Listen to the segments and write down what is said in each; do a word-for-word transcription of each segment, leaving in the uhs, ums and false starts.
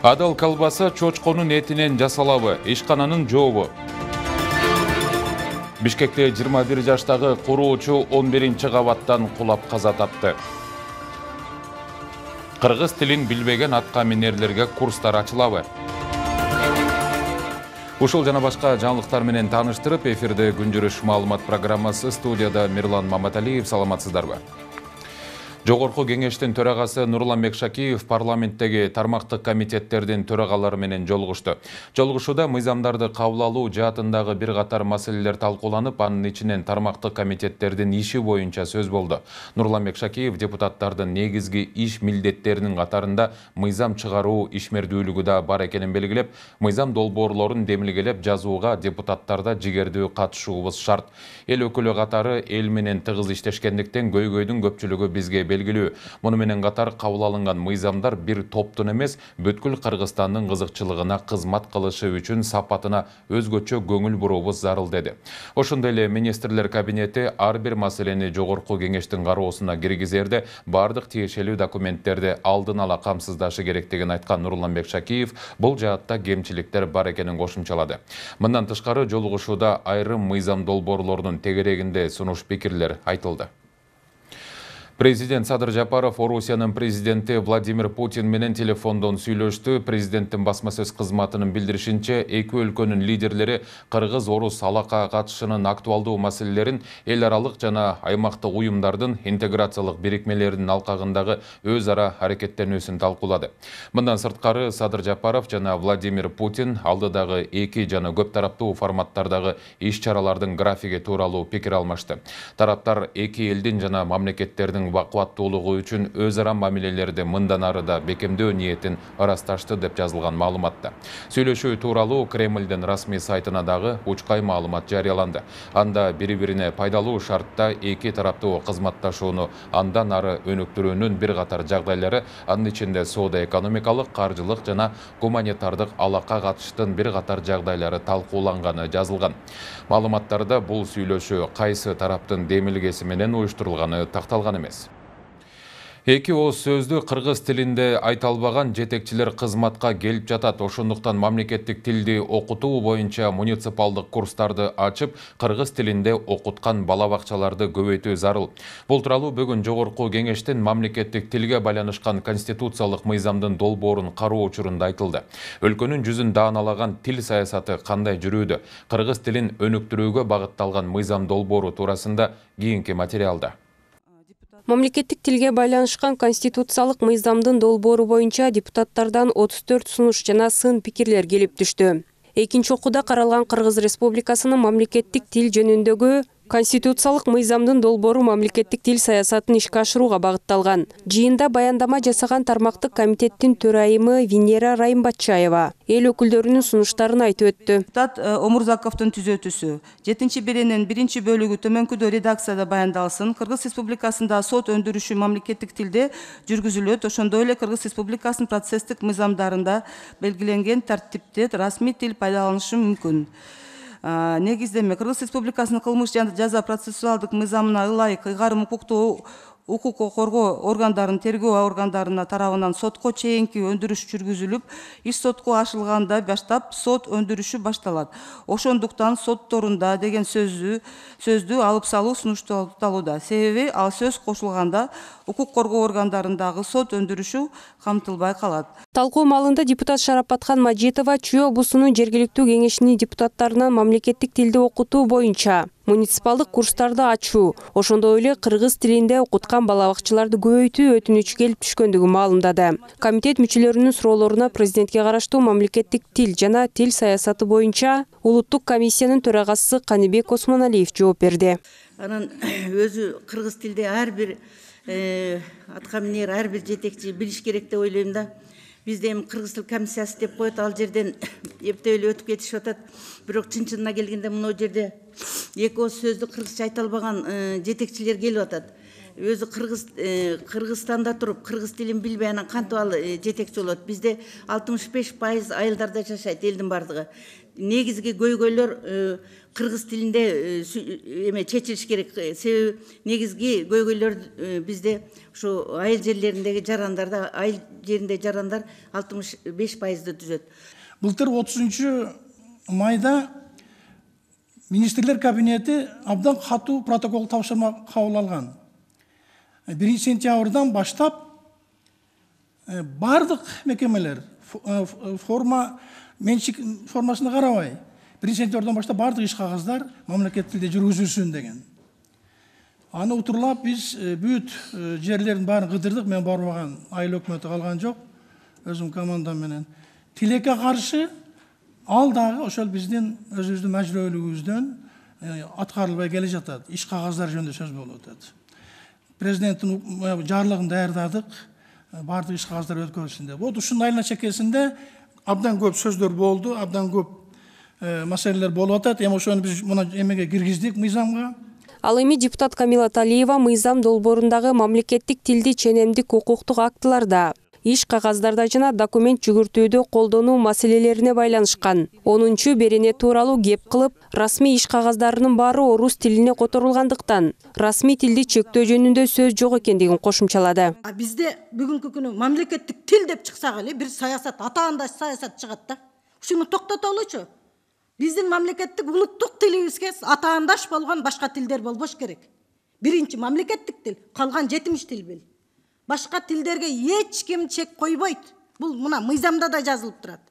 Адал колбаса чочконун этинен жасалабы, ишкананын жообу. Бишкекте жыйырма бир жаштагы куруучу он биринчи кабаттан кулап каза тапты. Кыргыз тилин билбеген атка минерлерге курстар ачылабы. Ушул жана башка жаңылыктар менен тааныштырып, эфирде күнжүрүш маалымат программасы, студияда Мирлан Маматалиев. Саламатсыздарбы? Жогорку кеңештин төрагасы Нурланбек Шакиев парламенттеги тармактык комитеттердин төрагалары менен жолугушту. Жолугушууда мыйзамдарды кабыл алуу жаатындагы бир катар маселелер талкууланып, анын ичинен тармактык комитеттердин иши боюнча сөз болду. Нурланбек Шакиев депутаттардын негизги иш милдеттеринин катарында мыйзам чыгаруу ишмердүүлүгү да бар экенин белгилеп, мыйзам долбоорлорун демилгелеп жазууга депутаттарда жигердүү катышуубуз шарт. Эл өкүлү катары эл менен тыгыз иштешкендиктен көйгөйдүн көпчүлүгү бизге белгилүү. Муну менен катар кабыл алынган мыйзамдар бир топтун эмес, бүткүл Кыргызстандын кызыкчылыгына кызмат кылышы үчүн сапатына өзгөчө көңүл буруубуз зарыл деди. Ошондой эле министрлер кабинети ар бир маселени жогорку кеңештин кароосуна киргизерде бардык тиешелүү документтерди алдын ала камсыздашы керектигин айткан Нурланбек Шакиев бул жаатта кемчиликтер бар экенин кошумчалады. Мындан тышкары жолугушууда айрым мыйзам долбоорлорунун тегерегинде сунуш пикирлер айтылды. Президент Садыр Жапаров Орусиянын президенти Владимир Путин менен телефондон сүйлөштү. Президенттин басма сөз кызматынын билдиришинче, эки өлкөнүн лидерлери Кыргыз-Орус алака катышынын актуалдуу маселелерин эл аралык жана аймактык уюмдардын интеграциялык бирикмелеринин алкагындагы өз ара аракеттенүүсүн талкуулады. Мындан сырткары Садыр Жапаров жана Владимир Путин алдыдагы эки жана көп тараптуу форматтардагы иш-чаралардын графиги тууралуу пикир алмашты. Тараптар эки элдин жана мамлекеттердин бакуаттуулугу үчүн өз ара мамилелерди мындан арыда бекемдөө ниетин ырасташты деп жазылган маалыматта. Сүйлөшүү тууралуу Кремлдин расмий сайтына дагы учкай маалымат жарыяланды. Анда бири-бирине пайдалуу шартта эки тараптуу кызматташууну андан ары өнүктүрүүнүн бир катар жагдайлары, анын ичинде соода-экономикалык, каржылык жана гуманитардык алака катыштын бир катар жагдайлары талкууланганы жазылган. Маалыматтарда бул сүйлөшүү кайсы тараптын демилгеси менен уюштурулганы такталган эмес. Эки ооз сөздү кыргыз тилинде айта албаган жетекчилер кызматка келип жатат. Ошондуктан мамлекеттик тилди окутуу боюнча муниципалдык курстарды ачып, кыргыз тилинде окуткан бала бакчаларды көбөйтүү зарыл. Бул тууралуу бүгүн жогорку кеңештин мамлекеттик тилге байланышкан конституциялык мыйзамдын долбоорун кароо учурунда айтылды. Өлкөнүн жүзүн дааналаган тил саясаты кандай жүрүүдө? Кыргыз тилин өнүктүрүүгө багытталган мыйзам долбоору туурасында кийинки материалда. Мамлекеттик тилге байланышкан конституциялык мыйзамдын долбоору боюнча депутаттардан отуз төрт сунуш жана сын пикирлер келип түштү. Экинчи окууда каралган Кыргыз Республикасынын мамлекеттик тил жөнүндөгү конституциялык мыйзамдын долбоору мамлекеттик тил саясатын ишке ашырууга багытталган. Жыйында баяндама жасаган тармактык комитеттин төрайымы Венера Райымбатчаева эл өкүлдөрүнүн сунуштарын айтып өттү. Депутат Омурзаковдун түзөтүүсү жетинчи беренин биринчи бөлүгү төмөнкүдө редакцияда баяндалсын. Кыргыз Республикасында сот өндүрүшү мамлекеттик тилде жүргүзүлөт. Ошондой эле Кыргыз Республикасынын процесстик мыйзамдарында белгиленген тартипте расмий тил пайдаланышы мүмкүн. Негиздеме Кыргыз Республикасынын кылмыш жана жаза процессуалдык мыйзамына ылайык ыйгарым укуктуу укук коргоо органдарынын тергөө органдарына тарабынан сотко чейинки өндүрүш жүргүзүлүп, иш сотко ашылганда баштап сот өндүрүшү башталат. Ошондуктан сотторунда деген сөздү сөздү алып салуу сунушталууда. Себеби ал сөз кошулганда укук коргоо органдарындагы сот өндүрүшү камтылбай калат. Талкуу маалында депутат Шарапатхан Мажитова Чүй облусунун жергиликтүү кеңешинин депутаттарынан мамлекеттик тилди окутуу боюнча муниципалдык курстарды ачуу, ошондой эле кыргыз тилинде окуткан бала бакчаларды көбөйтүү өтүнүчү келип түшкөндүгүн маалымдады. Комитет мүчөлөрүнүн суроолоруна президентке караштуу мамлекеттик тил жана тил саясаты боюнча улуттук комиссиянын төрагасы Каныбек Осмоналиев жооп берди. Анан өзү кыргыз тилде ар бир атка минер, ар бир жетекчи билиш керек деп ойлойм да. Бизде эми кыргыз тил комиссиясы деп коет, ал жерден эптеп эле өтүп кетишип атат. Бирок чын-чынына келгенде мына жерде эки ооз сөздү кыргызча айта албаган жетекчилер келип атат. өзү кыргыз Кыргызстанда туруп кыргыз тилин билбей анан кантип ал жетекчи болот? Бизде алтымыш беш пайыз айылдарда жашайт элдин бардыгы. Негизги көйгөйлөр кыргыз тилинде эме чечилиш керек. Себеби негизги көйгөйлөр бизде ушу айыл жерлериндеги жарандарда, айыл жеринде жарандар алтымыш беш пайызды түзөт. Былтыр отузунчу майда министрлер кабинети абдан катуу протокол тапшырма кабыл алган. биринчи сентябрдан баштап бардык мекемелер форма менчик формасына карабай биринчи сентябрдан баштап бардык иш кагаздар мамлекеттик тилде жүргүзүлсүн деген. Аны утурлап биз бүт жерлердин баарын кыдырдык. Мен барбаган, айыл өкмөтү калган жок. Өзүм командам менен тилекке каршы ал дагы ошол биздин өзүбүздүн мажбүрөлүгүбүздөн аткарылбай келе жатат. Иш кагаздар жөнүндө сөз болуп атат. Президенттин жарлыгын даярдадык, бардык иш кагаздар өткөрүлсүн деп. Вот ушунун айылына чекесинде абдан көп сөздөр болду, абдан көп маселелер болуп атат. Эми ошону биз мына эмеге киргиздик, мыйзамга. Ал эми депутат Камила Талиева мыйзам долборундагы мамлекеттик тилди ченемдик укуктук актыларда, иш кагаздарда жана документ жүгүртүүдө колдонуу маселелерине байланышкан онунчу берене тууралуу кеп кылып, расмий иш кагаздарынын баары орус тилине которулгандыктан расмий тилди чектөө жөнүндө сөз жок экендигин кошумчалады. Бизде бүгүнкү күнү мамлекеттик тил деп чыксак эле бир саясат, атаандаш саясат чыгат да. Ушуну токтотолучу. Биздин мамлекеттик улуттук тилибизге атаандаш болгон башка тилдер болбош керек. Биринчи мамлекеттик тил, калган жетимиш тил бил. Башка тилдерге эч ким чек койбойт. Бул мына мыйзамда да жазылып турат.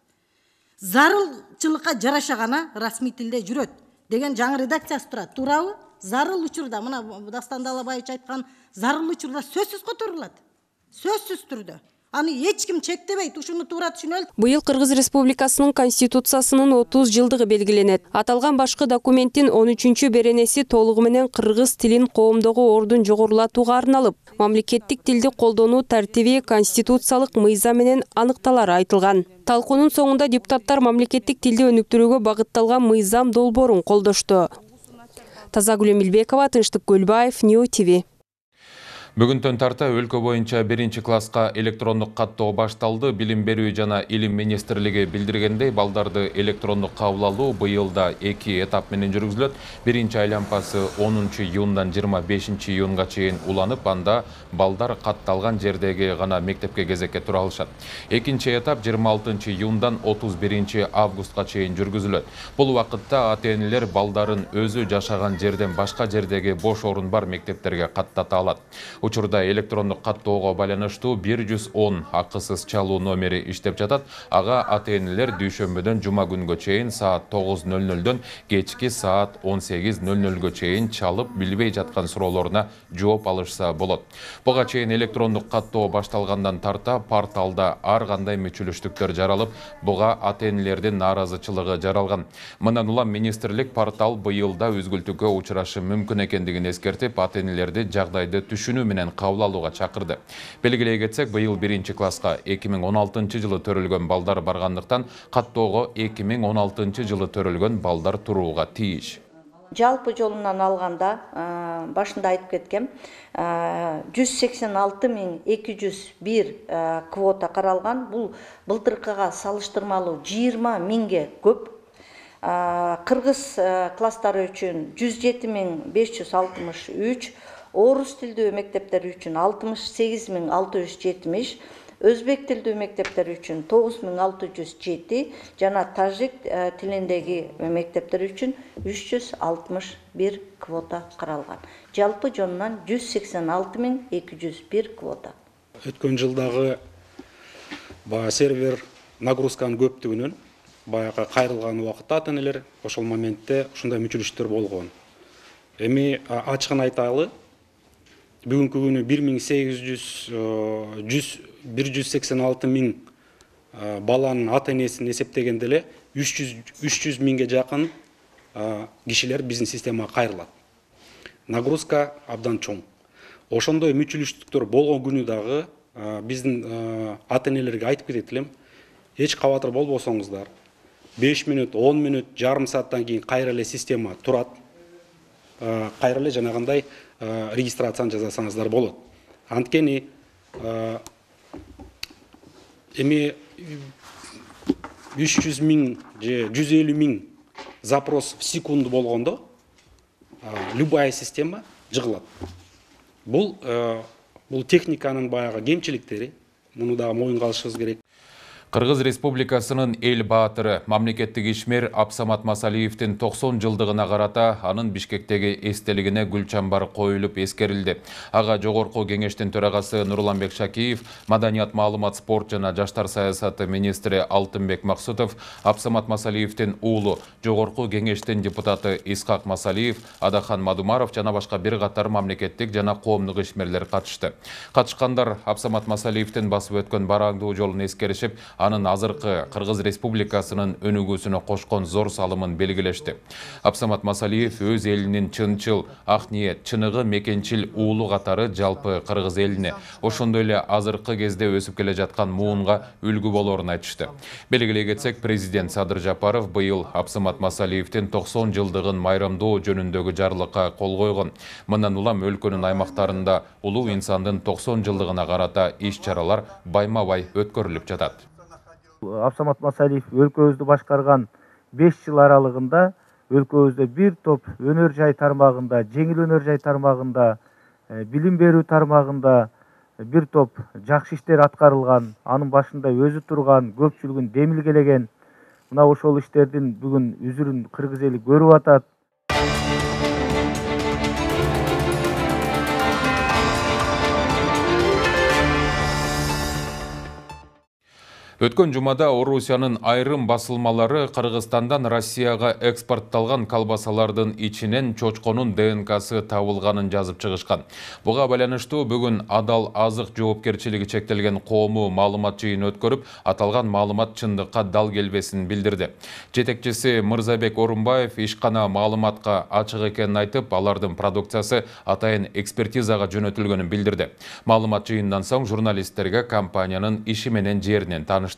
Зарылчылыкка жараша гана расмий тилде жүрөт деген жаңы редакциясы турат. Туурабы? Зарыл учурда мына Дастан Далабаевич айткан зарыл учурда сөзсүз которулат. Сөзсүз түрдө. Аны эч ким чектебейт, ушуну туура түшүнөлү. Быйыл Кыргыз Республикасынын Конституциясынын отуз жылдыгы белгиленет. Аталган башкы документтин он үчүнчү беренеси толугу менен кыргыз тилин коомдогу ордун жогорулатууга арналып, мамлекеттик тилди колдонуу тартиби конституциялык мыйзам менен аныкталары айтылган. Талкуунун соңунда депутаттар мамлекеттик тилди өнүктүрүүгө багытталган мыйзам долбоорун колдошту. Тазагүл Эмилбекова, Тынчтык Көлбаев, Нью ти ви. Бүгүндөн тарта өлкө боюнча биринчи класска электрондук каттоо башталды. Билим берүү жана илим министрлиги билдиргендей, балдарды электрондук кабыл алуу быйылда эки этап менен жүргүзүлөт. Биринчи айланпасы онунчу июндан жыйырма бешинчи июнга чейин уланып, анда балдар катталган жердеги гана мектепке кезекке тура алышат. Экинчи этап жыйырма алтынчы июндан отуз биринчи августка чейин жүргүзүлөт. Бул убакытта ата-энелер балдарын өзү жашаган жерден башка жердеги бош орун бар мектептерге каттата алат. Учурда электрондук каттоого байланыштуу бир жүз он акысыз чалуу номери иштеп жатат. Ага ата-энелер дүйшөмбөдөн жума күнгө чейин саат тогуз нөл нөлдөн кечки саат он сегиз нөл нөлгө чейин чалып, билбей жаткан суроолоруна жооп алышса болот. Буга чейин электрондук каттоо башталгандан тарта порталда ар кандай мүчүлүштүктөр жаралып, буга ата-энелердин нааразычылыгы жаралган. Мындан улам министрлик портал быйылда үзгүлтүккө учурашы мүмкүн экендигин эскертип, ата-энелерди жагдайды түшүнүү менен кабыл алууга чакырды. Белгилей кетсек, быйыл биринчи класска эки миң он алтынчы жылы төрөлгөн балдар баргандыктан каттоого эки миң он алтынчы жылы төрөлгөн балдар турууга тийиш. Жалпы жолунан алганда, башында айтып кеткем, жүз сексен алты миң эки жүз бир квота каралган. Бул былтыркыга салыштырмалуу жыйырма миңге көп. Кыргыз класстары үчүн жүз жети миң беш жүз алтымыш үч, орус тилдүү мектептер үчүн алтымыш сегиз миң алты жүз жетимиш, өзбек тилдүү мектептер үчүн тогуз миң алты жүз жети жана тажик тилиндеги мектептер үчүн үч жүз алтымыш бир квота каралган. Жалпы жонунан жүз сексен алты миң эки жүз бир квота. Өткөн жылдагы баягы сервер нагрузканын көптүгүнөн баягы кайрылган убакытта ата-энелер ошол моментте ушундай мүчүлүштөр болгон. Эми ачыгын айталы, бүгүнкү күнү бир миң сегиз жүз бир жүз сексен алты миң баланын ата-энесин эсептегенде эле үч жүз миңге жакын кишилер биздин системага кайрылат. Нагрузка абдан чоң. Ошондой мүчүлүштүктөр болгон күнү дагы биздин ата-энелерге айтып кетет элем, эч кабатыр болбосоңуздар, беш мүнөт, он мүнөт, жарым сааттан кийин кайра эле система турат. Кайра эле жанагындай регистрацияны жасасаңыздар болот. Анткени эми үч жүз миң же жүз элүү миң запрос в секунду болгондо любая система жыгылат. Бул бул техниканын баягы кемчиликтери. Муну дагы моюнга алышыбыз керек. Кыргыз Республикасынын эл баатыры, мамлекеттик ишмер Абсамат Масалиевдин токсон жылдыгына карата анын Бишкектеги эстелигине гүл чамбар коюлуп эскерилди. Ага Жогорку Кеңештин төрагасы Нурланбек Шакиев, Маданият, маалымат, спорт жана жаштар саясаты министри Алтынбек Максутов, Абсамат Масалиевдин уулу, Жогорку Кеңештин депутаты Исхак Масалиев, Адахан Мадумаров жана башка бир катар мамлекеттик жана коомдук ишмерлер катышты. Катышкандар Абсамат Масалиевдин басып өткөн бараңдуу жолун эскеришип, анын азыркы Кыргыз Республикасынын өнүгүүсүнө кошкон зор салымын белгилешти. Абсамат Масалиев өз элинин чынчыл, ак ниет, чыныгы, мекенчил уулу катары жалпы Кыргыз элине, ошондой эле азыркы кезде өсүп келе жаткан муунга үлгү болорун айтышты. Белгилей кетсек, президент Садыр Жапаров быйыл Абсамат Масалиевдин токсон жылдыгын майрамдоо жөнүндөгү жарлыкка кол койгон. Мындан улам өлкөнүн аймактарында улуу инсандын токсон жылдыгына карата иш-чаралар байма-бай өткөрүлүп жатат. Абсамат Масалиев өлкөбүздү башкарган беш жыл аралыгында өлкөбүздө бир топ өнөр жай тармагында, жеңил өнөр жай тармагында, билим берүү тармагында бир топ жакшы иштер аткарылган. Анын башында өзү турган, көпчүлүгүн демилгелеген. Мына ошол иштердин бүгүн үзүрүн кыргыз эли көрүп атат. Өткөн жумада Орусиянын айрым басылмалары Кыргызстандан Россияга экспортталган колбасалардын ичинен чочконун ДНКсы табылганын жазып чыгышкан. Буга байланыштуу бүгүн Адал азык жоопкерчилиги чектелген коому маалымат жыйын өткөрүп, аталган маалымат чындыкка дал келбесин билдирди. Жетекчиси Мырзабек Орунбаев ишкана маалыматка ачык экенин айтып, алардын продукциясы атайын экспертизага жөнөтүлгөнүн билдирди. Маалымат жыйындан соң журналисттерге компаниянын иши менен жеринен таныштырды.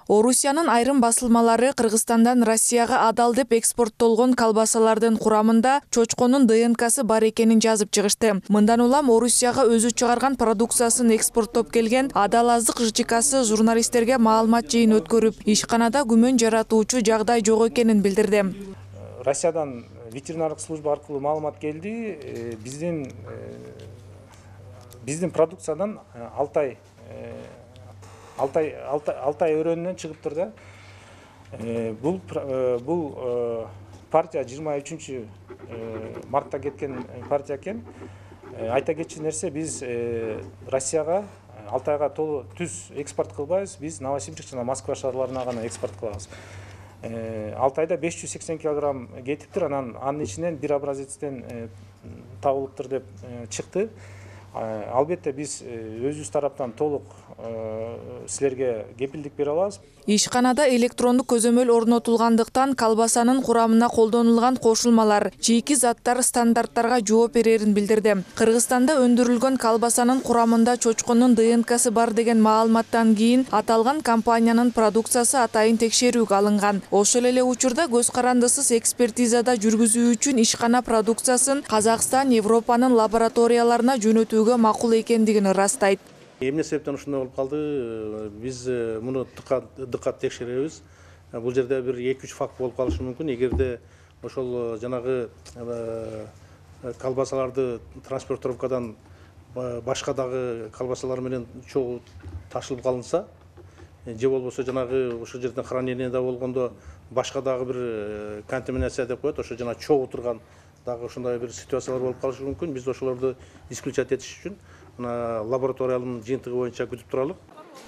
Орусиянын айрым басылмалары Кыргызстандан Россияга адал деп экспорттолгон колбасалардын курамында чочконун ДНКсы бар экенин жазып чыгышты. Мындан улам Орусияга өзү чыгарган продукциясын экспорттоп келген Адал азык ЖЧКсы журналисттерге маалымат жыйын өткөрүп, ишканада күмөн жаратуучу жагдай жок экенин билдирди. Россиядан ветеринардык служба аркылуу маалымат келди. Биздин биздин продукциядан Алтай Алтай Алтай өрөөнүнөн чыгыптыр да. Бул бул партия жыйырма үчүнчү мартта кеткен партия экен. Айта кетчү нерсе, биз Россияга, Алтайга толуу түз экспорт кылбайбыз. Биз Новосибирск жана Москва шаарларына гана экспорт кылабыз. Алтайда беш жүз сексен килограмм кетиптир, анан анын ичинен бир образецтен табылыптыр деп чыкты. Албетте биз өзүбүз тараптан толук силерге кепилдик бере алабыз. Ишканада электрондук көзөмөл орнотулгандыктан колбасанын курамына колдонулган кошулмалар, чийки заттар стандарттарга жооп берерин билдирди. Кыргызстанда өндүрүлгөн колбасанын курамында чочконун ДНКсы бар деген маалыматтан кийин аталган компаниянын продукциясы атайын текшерүүгө алынган. Ошол эле учурда көз карандысыз экспертизада жүргүзүү үчүн ишкана продукциясын Казакстан, Европанын лабораторияларына жөнөтүүгө макул экендигин ырастайт. Эмне себептен ушундай болуп калды? Биз муну дыкат текшеребиз. Бул жерде бир эки үч факт болуп калышы мүмкүн. Эгерде ошол жанагы колбасаларды транспортировкадан башка дагы колбасалар менен чогуу ташылып калынса, же болбосо жанагы ошол жерден хранениеде болгондо башка дагы бир контаминация деп коет, ошо жана чогуу турган дагы ошондой бир ситуациялар болуп калышы мүмкүн. Биз ошолорду исключать этиш үчүн лабораториялын жыйынтыгы боюнча күтүп туралык.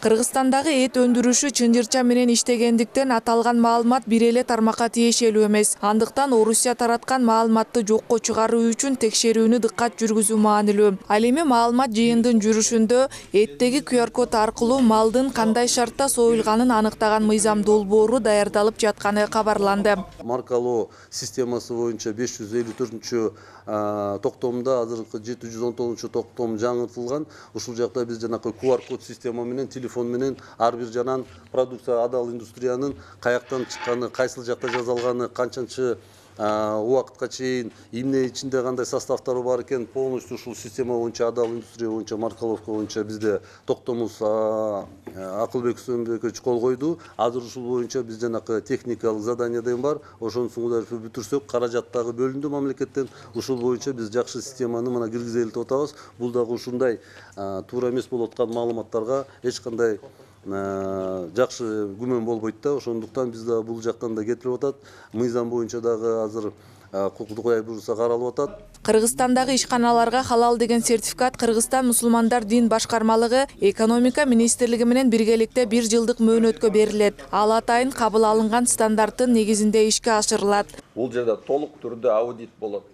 Кыргызстандагы эт өндүрүшү чынжырча менен иштегендиктен аталган маалымат бир эле тармакка тиешелүү эмес. Андыктан Орусия тараткан маалыматты жокко чыгаруу үчүн текшерүүнү дыккат жүргүзүү маанилүү. Ал эми маалымат жыйындын жүрүшүндө эттеги ку ар код аркылуу малдын кандай шартта союлганын аныктаган мыйзам долбоору даярдалып жатканы кабарланды. Маркалоо системасы боюнча беш жүз элүү төртүнчү токтомдо азыркы жети жүз он тогузунчу токтом жаңыртылган. Ушул жакта биз жанакы ку ар код система менен телефон менен ар бир жанан продукция Адал индустриянын каяктан чыкканы, кайсыл жакта жасалганы, канчанчы убакытка чейин эмне ичинде кандай составтары бар экен полностью ушул система боюнча адал индустрия боюнча маркаловка боюнча бизде токтомубуз Акылбек Үсөнбекович кол койду. Азыр ушул боюнча биз жанакы техникалык задание деген бар. Ошону соңуна бүтүрсөк, каражат дагы бөлүндү мамлекеттен. Ушул боюнча биз жакшы системаны мына киргизели деп атабыз. Бул дагы ушундай туура эмес болуп аткан маалыматтарга эч кандай жакшы күмөн болбойт да. Ошондуктан биз да бул жактан да кетирип атат. Мыйзам боюнча дагы азыр укуктук буюрса каралып атат. Кыргызстандагы ишканаларга халал деген сертификат Кыргызстан мусулмандар дин башкармалыгы экономика министрлиги менен биргеликте бир жылдык мөөнөткө берилет. Ал атайын кабыл алынган стандарттын негизинде ишке ашырылат. Бул жерде толук түрдө аудит болот.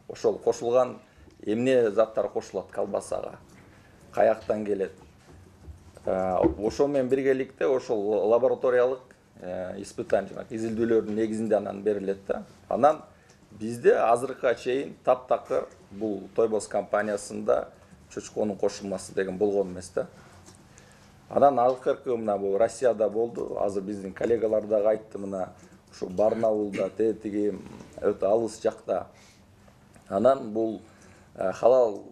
Ошол кошулган эмне заттар кошулат колбасага, каяктан келет. Ошол менен биргеликте ошол лабораториялык испытание, изилдөөлөрдүн негизинде анан берилет да. Анан бизде азыркыга чейин таптакыр бул Тойбос компаниясында чочконун кошулмасы деген болгон эмес да. Анан акыркы мына бул Россияда болду. Азыр биздин коллегалар дагы айтты, мына ушу Барнаулда, тетиги өтө алыс жакта. Анан бул халал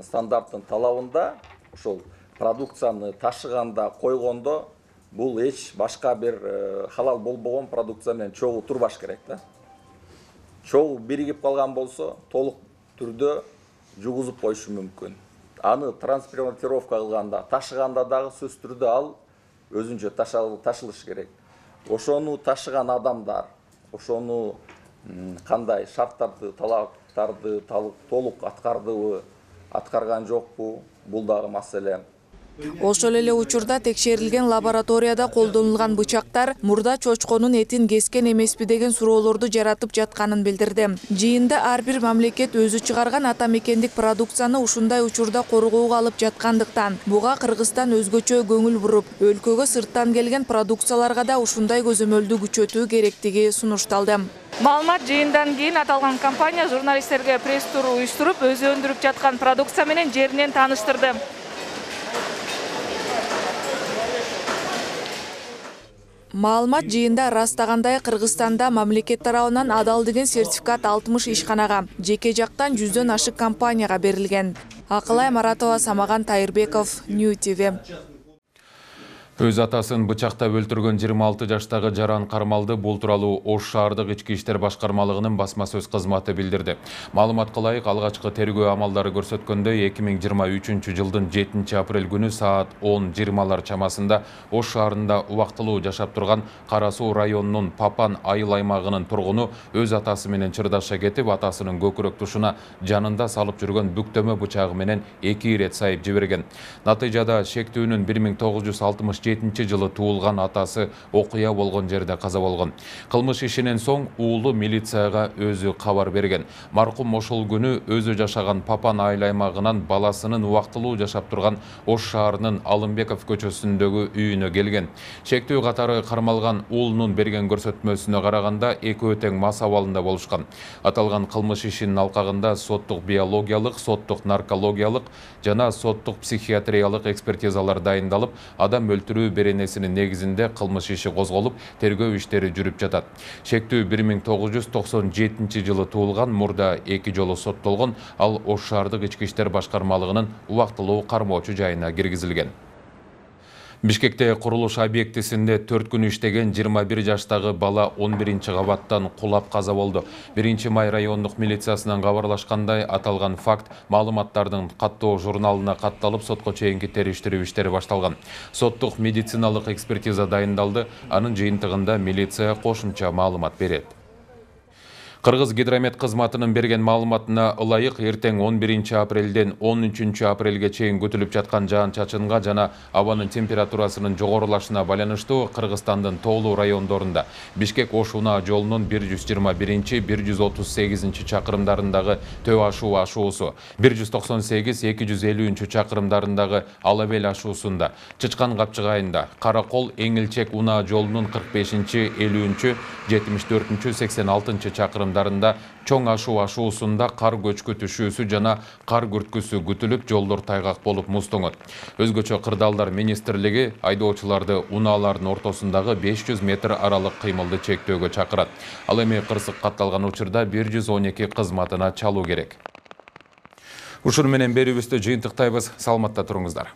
стандарттын талабында ошол продукцияны ташыганда, койгондо бул эч башка бир халал болбогон продукция менен чогуу турбаш керек да. Чогуу биригип калган болсо, толук түрдө жугузуп коюшу мүмкүн. Аны транспортировка кылганда, ташыганда дагы сөзсүз түрдө ал өзүнчө ташылыш керек. Ошону ташыган адамдар, ошону кандай шарттарды, талаптарды толук аткардыбы, аткарган жокпу, бул дагы маселе. Ошол эле учурда текшерилген лабораторияда колдонулган бычактар мурда чочконун этин кескен эмеспи деген суроолорду жаратып жатканын билдирди. Жыйында ар бир мамлекет өзү чыгарган ата мекендик продукцияны ушундай учурда коргоого алып жаткандыктан буга Кыргызстан өзгөчө көңүл буруп, өлкөгө сырттан келген продукцияларга да ушундай көзөмөлдү күчөтүү керектиги сунушталды. Маалымат жыйындан кийин аталган компания журналисттерге пресс-тур уюштуруп, өзү өндүрүп жаткан продукция менен жеринен тааныштырды. Маалымат жыйында ырастагандай Кыргызстанда мамлекет тарабынан адал деген сертификат алтымыш ишканага, жеке жактан жүздөн ашык компанияга берилген. Акылай Маратова, Самаган Тайырбеков, Нью ти ви. Өз атасын бычактап өлтүргөн жыйырма алты жаштагы Жаран Кармалды бул тууралуу Ош шаардык ички иштер башкармалыгынын басма сөз кызматы билдирди. Маалыматка ылайык, алгачкы тергөө амалдары көрсөткөндөй эки миң жыйырма үчүнчү жылдын жетинчи апрель күнү саат он жыйырмалар чамасында Ош шаарында убактылуу жашап турган Кара Суу районунун Папан айыл аймагынын тургуну өз атасы менен чырдаша кетип, атасынын көкүрөк тушуна жанында салып жүргөн бүктөмө бычагы менен эки ирет сайып жиберген. Натыйжада шектүүнүн бир миң тогуз жүз алтымыш жетинчи жылы туулган атасы окуя болгон жерде каза болгон. Кылмыш ишинен соң уулу милицияга өзү кабар берген. Маркум ошол күнү өзү жашаган Папан айыл аймагынан баласынын убактылуу жашап турган Ош шаарынын Алымбеков көчөсүндөгү үйүнө келген. Шектүү катары кармалган уулунун берген көрсөтмөсүнө караганда экөө тең мас абалында болушкан. Аталган кылмыш ишинин алкагында соттук биологиялык, соттук наркологиялык жана соттук психиатриялык экспертизалар дайындалып, адам өлтүрүү беренесинин негизинде кылмыш иши козголуп, тергөө иштери жүрүп жатат. Шектүү бир миң тогуз жүз токсон жетинчи жылы туулган, мурда эки жолу соттолгон, ал Ош шаардык ички иштер башкармалыгынын убактылуу кармоочу жайына киргизилген. Бишкекте курулуш объектисинде төрт күн иштеген жыйырма бир жаштагы бала он биринчи кабаттан кулап каза болду. биринчи май райондук милициясынан кабарлашкандай, аталган факт маалыматтардын каттоо журналына катталып, сотко чейинки териштирүү иштери башталган. Соттук медициналык экспертиза дайындалды, анын жыйынтыгында милиция кошумча маалымат берет. Кыргыз гидромет кызматынын берген маалыматына ылайык, эртең он биринчи апрелден он үчүнчү апрелге чейин күтүлүп жаткан жаан-чачынга жана абанын температурасынын жогорулашына байланыштуу Кыргызстандын тоолуу райондорунда Бишкек-Ош унаа жолунун бир жүз жыйырма биринчи — бир жүз отуз сегизинчи чакырымдарындагы Төө ашуу ашуусу, бир жүз токсон сегиз — эки жүз элүүнчү чакырымдарындагы Алабел ашуусунда, Чычкан капчыгайында, Каракол Эңилчек унаа жолунун кырк бешинчи — элүүнчү — жетимиш төртүнчү — сексен алтынчы чакырымдарында айылдарында чоң ашуу ашуусунда кар көчкү түшүүсү жана кар күрткүсү күтүлүп, жолдор тайгак болуп муздоңот. Өзгөчө Кырдаалдар министрлиги айдоочуларды унаалардын ортосундагы беш жүз метр аралык кыймылды чектөөгө чакырат. Ал эми кырсык катталган учурда бир жүз он эки кызматына чалуу керек. Ушуну менен берүүбүздү жыйынтыктайбыз. Саламатта туруңуздар.